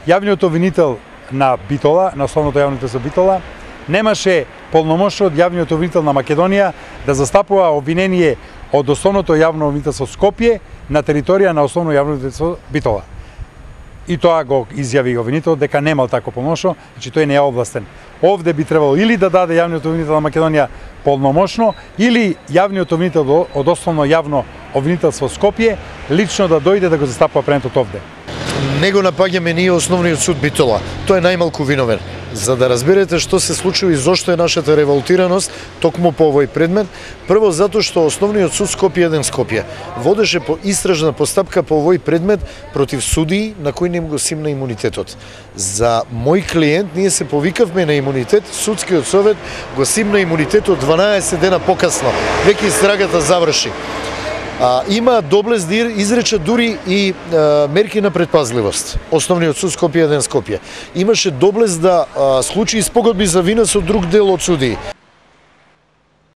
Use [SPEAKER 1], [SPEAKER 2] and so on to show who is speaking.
[SPEAKER 1] Јавниот обвинител на Битола, на Основното јавно обвинителство Битола, немаше полномошно од Јавниот обвинител на Македонија да застапува обвинение од Основното јавно обвинителство Скопје на територија на Основно јавно обвинителство Битола. И тоа го изјави обвинителот дека немал тако полномошно, значи тој не е овластен. Овде би требало или да даде Јавниот обвинител на Македонија полномошно, или Јавниот обвинител од Основно јавно обвинителство Скопје лично да дојде да го застапува предметот овде.
[SPEAKER 2] Не го напаѓаме ние Основниот суд Битола. Тој е најмалку виновен. За да разберете што се случува и зошто е нашата револтираност токму по овој предмет, прво затоа што Основниот суд Скопје 1 Скопје водеше по истражна постапка по овој предмет против судии на кои не го симна имунитетот. За мој клиент ние се повикавме на имунитет, судскиот совет го симна имунитетот 12 дена покасно, веќе истрагата заврши. Има доблест да изрече дури и мерки на предпазливост. Основниот суд Скопје 1 Скопје имаше доблест да склучи испогодби за вина со друг дел од судии.